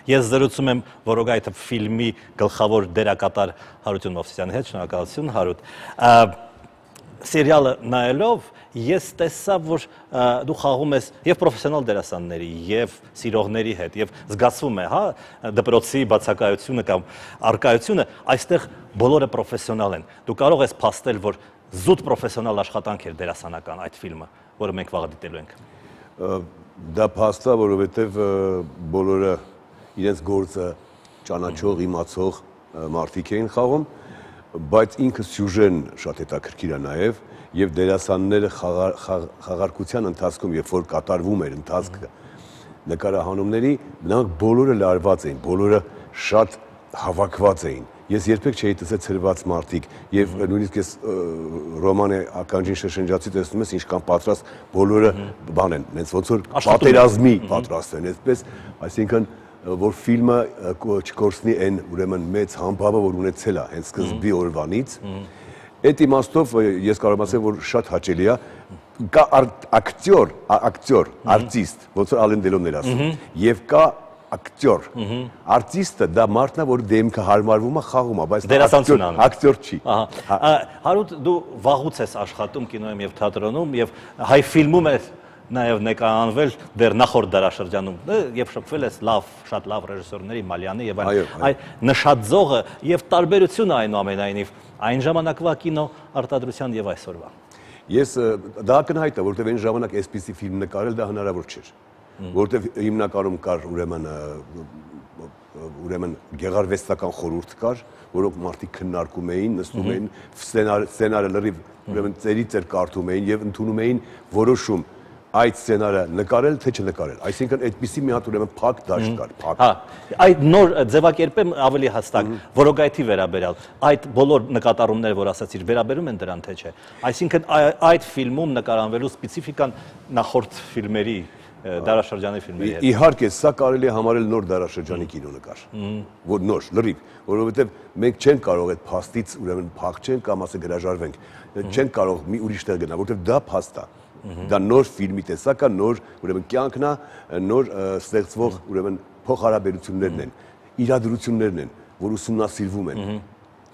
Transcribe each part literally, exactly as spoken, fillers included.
Ես զրուցում եմ Որոգայթը ֆիլմի գլխավոր դերակատար Հարություն Մովսիսյանի հետ, շնորհակալություն Հարութ։ Սերիալը նայելով ես տեսա, որ դու խաղում ես եւ պրոֆեսիոնալ դերասանների, եւ սիրողների հետ, եւ զգացվում է, հա, դպրոցի բացակայությունը կամ արկայությունը, այստեղ բոլորը պրոֆեսիոնալ են։ Դու կարող ես փաստել, որ զուտ պրոֆեսիոնալ աշխատանք էր դերասանական այդ ֆիլմը, որը մենք վաղը դիտելու ենք։ Դա փաստ է, որովհետեւ բոլորը իրենց գործը ճանաչող, իմացող մարդիկ էին խաղում, բայց ինքը սյուժեն շատ հետաքրքիր է նաեւ եւ դերասանները խաղարկության ընթացքում, երբ որ կատարվում էր ընթացքը նկարահանումների, նրանք բոլորը լարված էին, բոլորը շատ հավաքված էին։ Ես երբեք չէի տեսել ցրված մարդիկ եւ նույնիսկ ես Ռոմանը ականջին շշնջացի տեսնում ես ինչքան պատրաստ բոլորը բան են, հենց ոնց որ պատերազմի պատրաստ են, այսպես, այսինքն որ ֆիլմը չկորցնի այն ուրեմն մեծ համբավը, որ ունեցել է հենց սկզբի օրվանից։ Այդ իմաստով ես կարող եմ ասել, որ շատ հաճելի է, կա ակտյոր, ակտյոր, արտիստ, ոնց որ Ալեն Դելոնն էր ասում, եւ կա ակտյոր։ Արտիստը դա մարդն է, որ դեմքը հարմարվում է, խաղում է, բայց ակտյոր չի։ Հարութ, դու վաղուց ես աշխատում կինոյում եւ թատրոնում եւ հայ ֆիլմում ես նաև նկարահանվել դեռ նախորդ դարաշրջանում, երբ շփվել ես լավ, շատ լավ ռեժիսորների Մալյանի եւ այլ նշաձողը եւ տարբերությունը այնուամենայնիվ այն ժամանակվա կինո արտադրության եւ այսօրվա։ Ես դա ակնհայտ է, որովհետեւ այն ժամանակ այսպիսի ֆիլմ նկարել դա հնարավոր չէր, որովհետեւ հիմնականում կար ուրեմն ուրեմն գեղարվեստական խորհուրդ կար, որոնք մարդիկ քննարկում էին, նստում էին, սցենարը լրիվ ուրեմն ծերի ծեր կարդում էին եւ ընդունում էին որոշում այդ սցենարը նկարել թե չնկարել, այսինքն այդպիսի մի հատ ուրեմն փակ դաշտ կար, փակ։ Հա, այդ նոր ձևակերպեմ ավելի հստակ, Որոգայթի վերաբերյալ, այդ բոլոր նկատառումները, որ ասացիր, վերաբերում են դրան թե չէ։ Այսինքն այդ ֆիլմում նկարահանվելու սպეციფիկան նախորդ ֆիլմերի, դարաշրջանի ֆիլմերի հետ։ Իհարկե, սա կարելի է համարել նոր դարաշրջանի կինոնկար, որ նոր, լրիվ, որովհետև մենք չենք կարող այդ փաստից ուրեմն փախչենք կամ ասե գրաժարվենք, չենք կարող մի ուրիշ տեղ գնալ, որովհետև դա փաստ է։ Դա նոր ֆիլմի տեսակ է, նոր ուրեմն կյանքն է, նոր ստեղծվող ուրեմն փոխհարաբերություններն են, իրադրություններն են, որ ուսումնասիրվում են։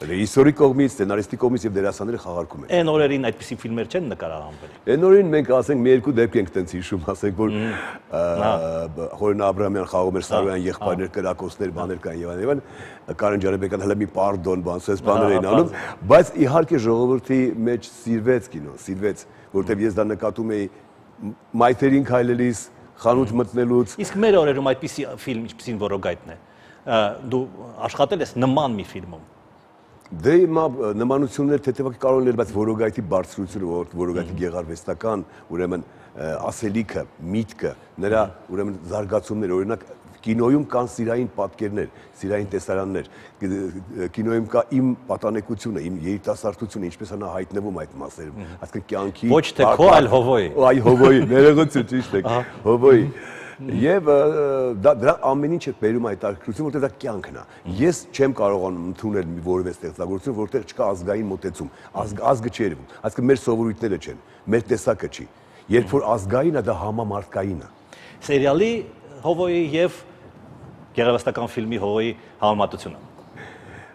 Ռեժիսորի կողմից, սցենարիստի կողմից եւ դերասանները խաղարկում են։ Այն օրերին այդպիսի ֆիլմեր չեն նկարահանվել։ Այն օրերին մենք ասենք մի երկու դեպք ենք տենց հիշում, ասենք որ Խորին Աբրահամյան խաղում էր Սարոյան եղբայրներ, կրակոցներ, բաներ կան եւ այլն, Կարեն Ջարաբեկյան հələ մի պարդոն, բան, սես բաներ էին անում, բայց իհարկե ժողովրդի մեջ սիրվեց կինո, սիրվեց, որովհետեւ ես դա նկատում էի մայթերին քայլելիս, խանութ մտնելուց։ Իսկ մեր օրերում այդպիսի ֆիլմ, ինչպեսին Որոգայթն է, դու աշխատել ես նման մի ֆիլմում։ Դե հիմա նմանություններ թեթևակի կարող են լինել, բայց Որոգայթի բարձրությունը, Որոգայթի գեղարվեստական, ուրեմն ասելիքը, միտքը, նրա ուրեմն զարգացումները, օրինակ կինոյում կան սիրային պատկերներ, սիրային տեսարաններ, կինոյում կա իմ պատանեկությունը, իմ երիտասարդությունը, ինչպես է նա հայտնվում այդ մասերում, այսինքն կյանքի ոչ թե քո, այլ Հովոյի։ Այ Հովոյի, ներողություն, ճիշտ է, Հովոյի։ Եվ դրա ամեն ինչը բերում է այդ արկրություն, որտեղ դա կյանքն է։ Ես չեմ կարողանում ընդունել մի որևէ ստեղծագործություն, որտեղ չկա ազգային մոտեցում, ազգը չի երևում, այսինքն մեր սովորույթները չեն, մեր տեսակը չի։ Երբ որ ազգային է, դա համամարտկային է։ Սերիալի Հովոյի եւ գեղարվեստական ֆիլմի Հովոյի համեմատությունը։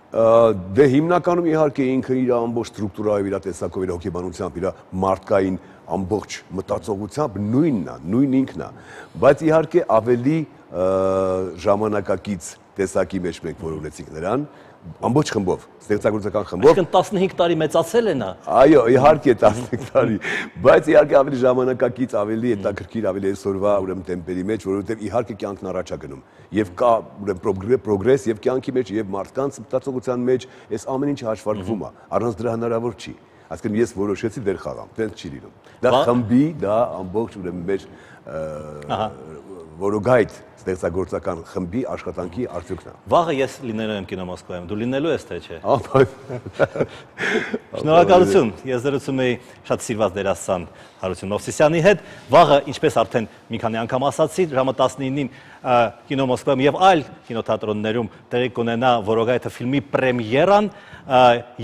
Դե հիմնականում իհարկե ինքը իր ամբողջ ստրուկտուրայով, իր տեսակով, իր հոգեբանությամբ, իր մարդկային ամբողջ մտածողությամբ նույնն է, նույն ինքն է, բայց իհարկե ավելի ժամանակակից տեսակի մեջ մենք որ ունեցինք նրան, ամբողջ խմբով, ստեղծագործական խմբով։ Այսինքն տասնհինգ տարի մեծացել է նա։ Այո, իհարկե տասնհինգ տարի, բայց իհարկե ավելի ժամանակակից, ավելի հետաքրքիր, ավելի այսօրվա ուրեմն տեմպերի մեջ, որովհետև իհարկե կյանքն առաջ է գնում։ Եվ կա ուրեմն պրոգրես եւ կյանքի մեջ եւ մարդկանց մտածողության մեջ այս ամեն ինչը հաշվարկվում է, առանց դրա հնարավոր չի։ Այսինքն ես որոշեցի դեր խաղամ, տենց չի լինում։ Դա խմբի, դա ամբողջ ուրեմն մեր Որոգայթ ստեղծագործական խմբի աշխատանքի արդյունքն է։ Վաղը ես լինելու եմ կինո Մոսկվայում, դու լինելու ես թե չէ։ Ահա։ Շնորհակալություն։ Ես զրուցում էի շատ սիրված դերասան Հարություն Մովսիսյանի հետ։ Վաղը, ինչպես արդեն մի քանի անգամ ասացի, ժամը տասնինին կինո Մոսկվայում եւ այլ կինոթատրոններում տեղի կունենա Որոգայթը ֆիլմի պրեմիերան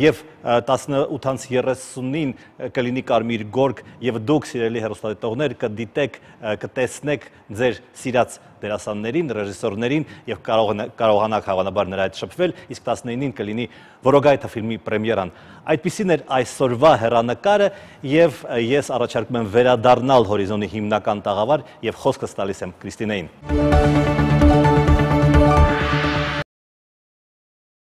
եւ տասնութ երեսունին կլինի Կարմիր գորգ եւ դուք սիրելի հեռուստադիտողներ կդիտեք, կտեսնեք ձեր սիրած դերասան դերասաններին, ռեժիսորներին եւ կարողանաք հավանաբար նրա հետ շփվել, իսկ տասնինին կլինի Որոգայթը ֆիլմի պրեմիերան։ Այդպիսին էր այսօրվա հեռանկարը եւ ես առաջարկում եմ վերադառնալ Հորիզոնի հիմնական տաղավար եւ խոսքս տալիս եմ Կրիստինեին։